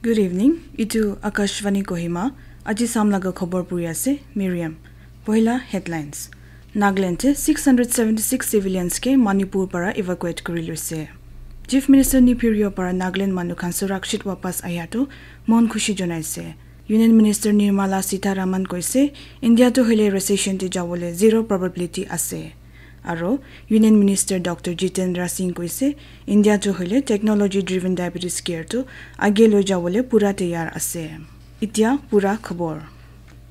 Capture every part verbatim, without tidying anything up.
Good evening. Itu Akashvani Kohima. Aji sam laga khobor puri ase Miriam. Pohila headlines. Nagaland te six hundred seventy-six civilians ke Manipur para evacuate kuri loise. Chief Minister Neiphiu Rio para Nagaland manu khan surakshit wapas ahya to mon khushi jonaise. Union Minister Nirmala Sitharaman koise, India to hoile recession te jawole zero probability ase. Aro Union Minister Doctor Jitendra Singh koise, India to hoile technology driven diabetes care to age loi jawole pura tayar ase. Itya pura khobor.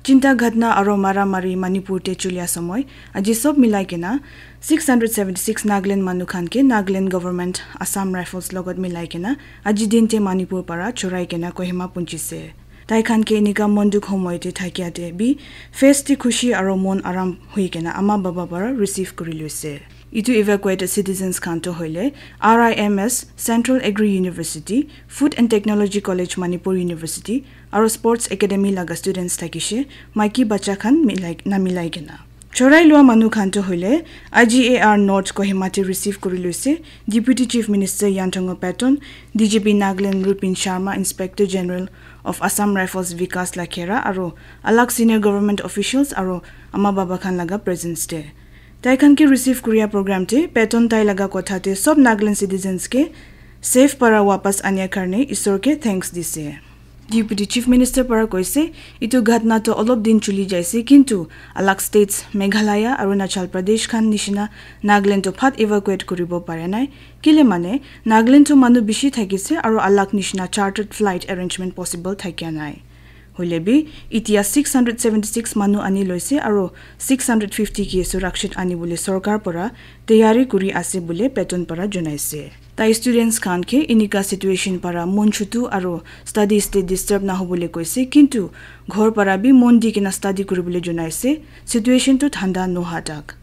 Chinta ghatna aro mara mari Manipur te chulia samoi, aji sob milai kena six hundred seventy-six Nagaland manu khan ke Nagaland government Assam Rifles logot milai kena aji din te Manipur para chorai kena Kohima punchise. Tai khan ke enika monduk homoi te thakia te bi face te khushi aro mon aram hui kena ama baba para receive kuri loise. Itu evacuated citizens khan to hoile R I M S, Central Agri University, Food and Technology College Manipur University, aro Sports Academy laga students thakishe, maiki bacha khan milai, na milai kena. Chorai lua manu khan to hoile I G A R North Kohima te receive kuri loise, Deputy Chief Minister Yantongo Patton, D G P Nagaland Rupin Sharma, Inspector General of Assam Rifles Vikas Lakhera, aro alag senior government officials aro ama baba khan laga presence te. Tai khan ke receive kuria program te Patton tai laga kotha te sob Nagaland citizens ke safe para wapas ania karne Isor ke thanks dise. Deputy Chief Minister para koise, itu ghatna to olop din chuli jaise, kintu alag states Meghalaya, Arunachal Pradesh khan nishina Nagaland to phat evacuate kuribo pare nai. Kile mane Nagaland to manu bishi thakise aro alag nishina chartered flight arrangement possible thakia nai. Hoile bi, itia six hundred seventy-six manu ani loise aro six hundred fifty ke surakshit ani bole sorkar para tayari kuri ase bole Patton para jonaise. Tai students khan ke inika situation para mon chutu aro studies te disturb na hobole koise, kintu ghor para bi mon di kena study kuribole jonaise, situation tu thanda noha tak.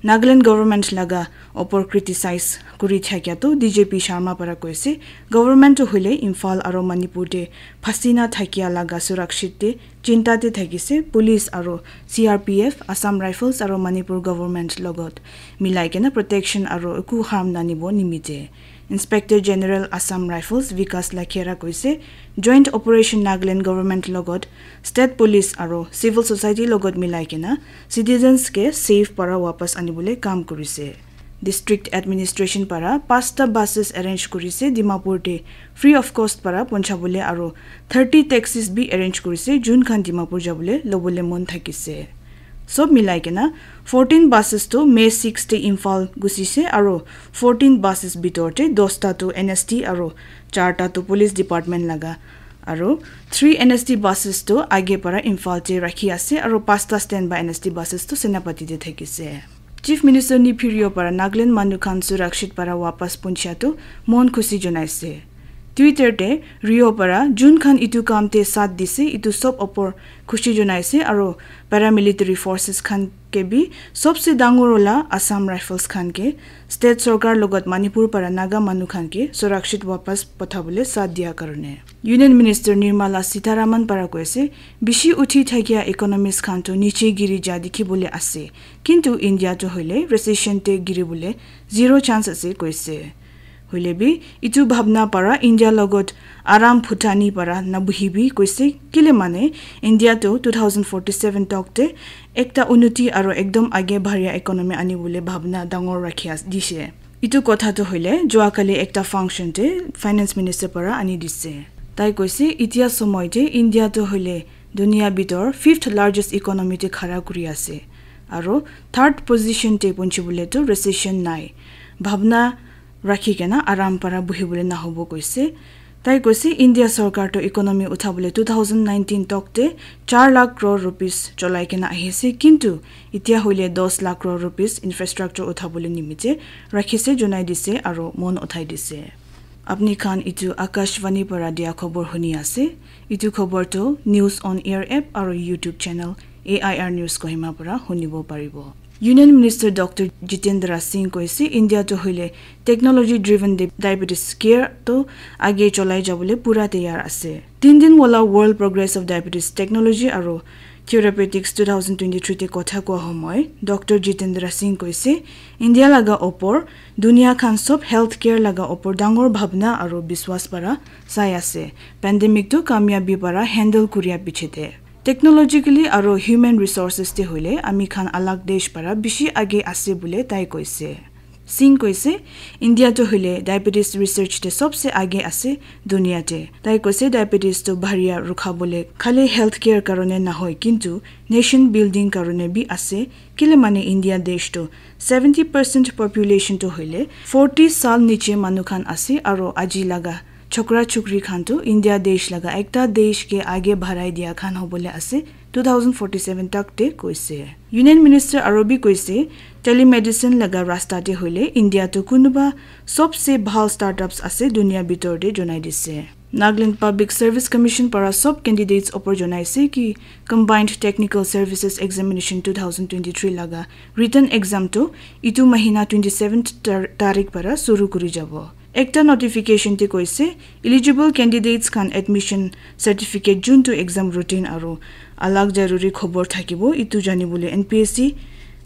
Nagaland government laga opor criticize kuri thakia to D G P Sharma para koise, government to hoile Imphal aro Manipur te phasi na thakia laga surakshit te chinta te thakise, police aro C R P F, Assam Rifles aro Manipur government logot milai kena protection aro eku harm nanibo nimite. Inspector General Assam Rifles Vikas Lakhera koise, Joint Operation Nagaland Government logot, State Police aro Civil Society logot milai kena citizens ke safe para wapas anibole kam kurise. District Administration para pasta buses arrange kurise Dimapur te free of cost para ponchabole aro thirty taxis bi arrange kurise jun khan Dimapur jabole lobole mon thakise. Sob milai kena fourteen buses to May six te Imphal gusise aro fourteen buses bitor te dosta to N S T aro charta to police department laga aro three N S T buses to age para Imphal te rakhi ase aro pasta standby N S T buses to Senapati te thakise. Chief Minister Neiphiu Rio para Nagaland manu khan surakshit para wapas punchia to mon khushi jonaise. Twitter te Rio para jun khan itu kam te saath dise itu sob opor khushi jonaise aro paramilitary forces khan ke bi sobse dangor wala Assam Rifles khan ke state sorkar logot Manipur para Naga manu khan ke surakshit wapas pathabole saath dia karone. Union Minister Nirmala Sitharaman para koise, bishi uthi thakia economies khan to niche giri ja dikhibole ase, kintu India to hoile recession te giribole zero chance ase koise. Hoile bi itu bhabna para India logot aram phutani para nabuhibi koise, kile mane India to two thousand forty-seven tok te ekta unnoti aro ekdom age bhariya economy anibole bhabna dangor rakhi as dishe. Itu kotha to hoile jua kali ekta function te finance minister para ani dise. Tai koise itia somoy te India to hoile dunia bitor fifth largest economy te khara kuri ase aro third position te punchibole to recession nai. Bhabna rakhi kena aram para buhibole nahobo koise. Tai koise India sorkar to economy uthabole two thousand nineteen tok te char lakh crore rupees cholai kena ahise, kintu itia hoile dos lakh crore rupees infrastructure uthabole nimite rakhise jonai dise aro mon uthai dise. Apni khan itu Akashvani para dia khobor huni ase. Itu khobor to News on Air app aro YouTube channel A I R News Kohima para hunibo paribo. Union Minister Doctor Jitendra Singh koise India to hoile technology driven di-, diabetes care to age cholai jabole pura tayar ase. Tin din wala World Progress of Diabetes Technology aro Therapeutics two thousand twenty-three te kotha koa homoi Doctor Jitendra Singh koise, India laga opor dunia khan sob healthcare laga opor dangor bhabna aru biswas para sai ase. Pandemic tu kamiyabi para handle kuriya pichete, technologically aru human resources te hoile ami khan alag desh para bishi age ase bole tai koise. Singh koise, India to hoile diabetes research te sobse age ase dunia te. Tai koise, diabetes to bharia rukha bole khali healthcare karone nahoi, kintu nation building karone bi ase. Kile mane India desh to seventy percent population to hoile forty sal niche manu khan ase, aro aji laga chokra chokri khan to India desh laga ekta desh ke age bharai dia khan hobole ase two thousand forty-seven tak te koise. Union Minister aro bi koise, telemedicine laga rasta te hoile India to kunuba sobse bhal startups ase dunia bitor te jonai dise. Nagaland Public Service Commission para sob candidates opor jonai ase ki Combined Technical Services Examination two thousand twenty-three laga written exam to itu mahina twenty-seventh tar- tarik para suru kuri jabo. Ekta notification te koise, eligible candidates khan admission certificate jun to exam routine aro alag jaruri khobor thakibo, itu janibole N P S C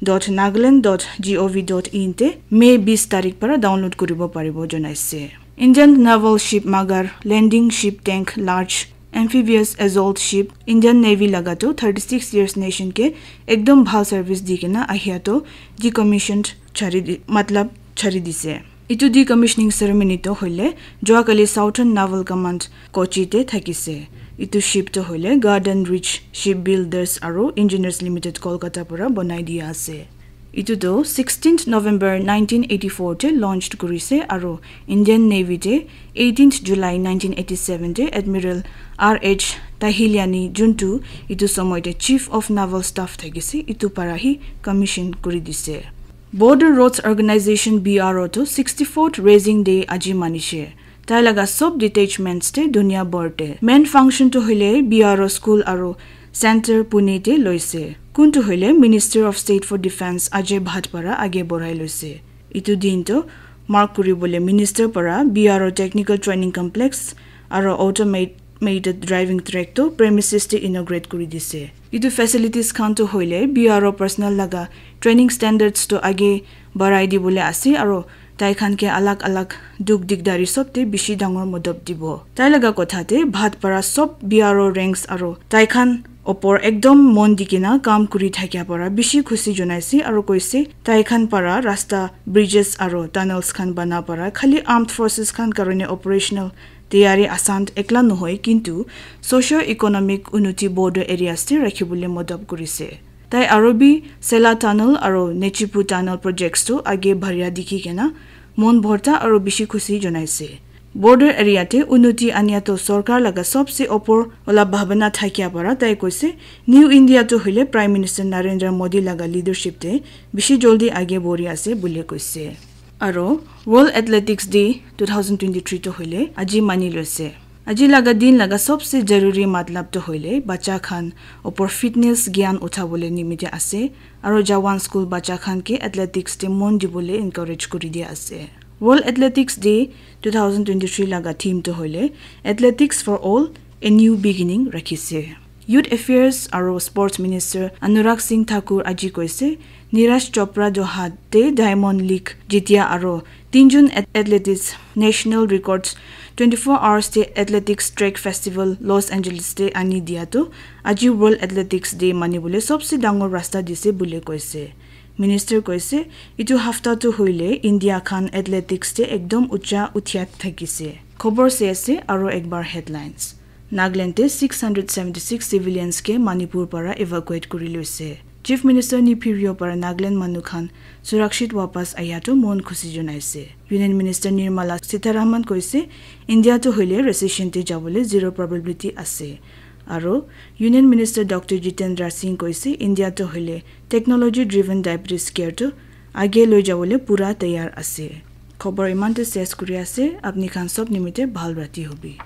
dot nagaland dot gov dot in te May bis tarik para download kuribo paribo jonaise. Indian naval ship Magar, landing ship tank large, amphibious assault ship, Indian Navy laga to thirty-six years nation ke ekdom bhal service di kena ahia to decommissioned chari di, matlab chari dise. Itu decommissioning ceremony to hoile Joakali Southern Naval Command Kochi te thakise. Itu ship to hoile Garden Ridge Shipbuilders aro Engineers Limited Kolkata para bonai dia ase. Itu to sixteenth November nineteen eighty-four te launched kurise aro Indian Navy te eighteenth July nineteen eighty-seven te Admiral R H Tahiliani, juntu itu somoy te Chief of Naval Staff thakise, itu para hi commission kuri dise. Border Roads Organization B R O to sixty-fourth raising day aji manishe. Tai laga sob detachments te dunia bor te. Main function to hoile B R O school aro center Pune te loise. Kuntu hoile Minister of State for Defense Ajay Bhatt para age borai loise. Itu din to mark kuribole minister para B R O Technical Training Complex aro automated driving track to premises te inaugurate kuri dise. Itu facilities khan to hoile B R O personnel laga training standards to age barai dibole ase aro tai khan ke alag alag duk dikdari sob te bishi dangor modop dibo. Tai laga kotha te Bhatt para sob B R O ranks aro tai khan opor ekdom mon di kena kam kuri thakia para bishi khushi jonaise aro koise tai khan para rasta, bridges aro tunnels khan bana para khali armed forces khan karone operational tayari asan ekla nohoi, kintu socio economic unity border areas te rakhibole modop kurise. Tai aro bi Sela Tunnel aro Nechipu Tunnel projects to age bharia dikhi kena mon bhorta aro bishi khushi jonaise. Border area te unoti ania to sorkar laga sobse opor wala bhabana thakia para tai koise, New India to hoile Prime Minister Narendra Modi laga leadership te bishi joldi age bori ase bole koise. Aro World Athletics Day two thousand twenty-three to hoile aji mani loise. Aji laga din laga sobse jaruri matlab to hoile bacha khan opor fitness gyan uthabole nimite ase, aro Jawan school bacha khan ke athletics te mon dibole encourage kuri dia ase. World Athletics Day two thousand twenty-three laga theme to hoile Athletics for All, a New Beginning rakhise. Youth Affairs aro Sports Minister Anurag Singh Thakur aji koise, Neeraj Chopra Doha te Diamond League jitia aro tinjun at- athletes national records twenty-four hours te athletics track festival Los Angeles te ani dia to aji World Athletics Day manibole sobse dangor rasta dise bole koise. Minister koise, itu hafta to hoile India khan athletics te ekdom ucha uthia thakise. Khobor se ase aro ekbar headlines. Nagaland te six hundred seventy-six civilians ke Manipur para evacuate kuri loise. Chief Minister Neiphiu Rio para Nagaland manu khan surakshit wapas aya to mon khushi jonaise. Union Minister Nirmala Sitharaman koise, India to hoile recession te jabole zero probability ase. Aro Union Minister Doctor Jitendra Singh koise, India to hoile technology driven diabetes care to age loi jabole pura tayar ase. Khobor imante ses kuri ase, apni khan sob nimite bhal rati hobi.